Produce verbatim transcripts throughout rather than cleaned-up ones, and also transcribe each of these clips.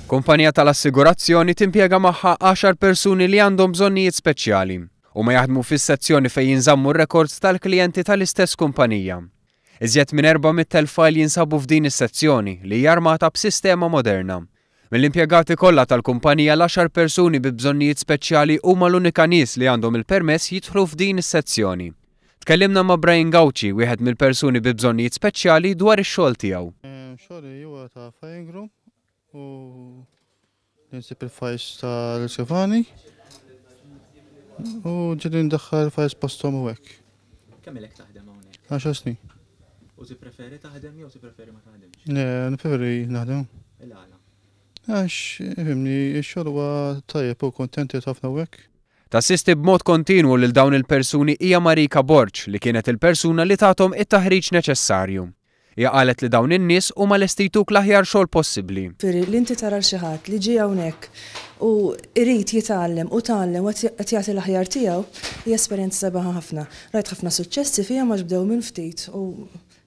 Kumpanija tal-assigurazzjoni timpjega magħha għaxar persuni li għandhom bżonnijiet speċjali u ma jaħdmu fis-sezzjoni fejn jinżammu r-rekords tal-klijenti tal-istess kumpanija. Iżjed minn erba' mitt elf file jinsabu f'din is-sezzjoni li hija armata b'sistema moderna. Mill-impjegati kollha tal-kumpanija, l-għaxar persuni bi bżonnijiet speċjali huma l-unika nies li għandhom il-permess jidħlu f'din is-sezzjoni. Tkellimna ma' Brian Gauci, wieħed mill-persuni bi bżonnijiet speċjali, dwar ix-xogħol tiegħu. Xogħli huwa ta' filing room u ninsib il-files tal-iskrivani u ġieli ndaħħal files posthom u hekk. Kemm ilek taħdem hawnhekk? Għaxar snin. U tippreferi taħdem jew tippreferi ma taħdemx? Le, nippreferi naħdem. Il-għala? Għax, ifhimni, ix-xogħol huwa tajjeb u kontenti ħafna u hekk. Tassisti b'mod kontinwu lil dawn il-persuni hija Marika Borg, li kienet il-persuna li tathom it-taħriġ neċessarju. Hija qalet li dawn in-nies huma lesti jtuk l-aħjar xogħol possibbli. Firri li inti tara xi ħadd li ġie hawnhekk u irid jitgħallem u tgħallem u qed jagħti l-aħjar tiegħu hija esperjenza sabiħa ħafna. Rajt ħafna suċċessi fiha ma bdew minn ftit u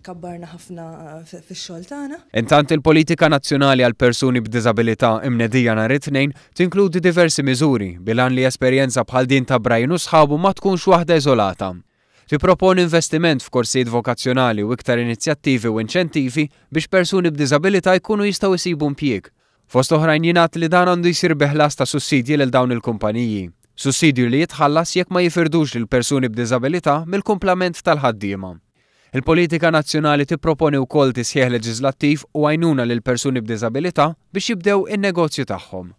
kabbarna ħafna fix-xogħol tagħna. Intant, il-politika nazzjonali għal persuni b'diżabilità imnedija nhar it-Tnejn tinkludi diversi miżuri bil-għan li esperjenza bħal din ta' Brian u sħabu ma tkunx waħda iżolata. Tipproponi investiment f'korsijiet vokazzjonali u iktar inizjattivi u inċentivi biex persuni b'diżabilità jkunu jistgħu jsibu impjieg. Fost oħrajn jingħad li dan għandu jsir bi ħlas ta' sussidji lil dawn il-kumpaniji. Sussidju li jitħallas jekk ma jifirdux lil persuni b'diżabilità mill-kumplament tal-ħaddiema. Il-politika nazzjonali tipproponi wkoll tisħiħ leġislattiv u għajnuna lil persuni b'diżabilità biex jibdew in-negozju tagħhom.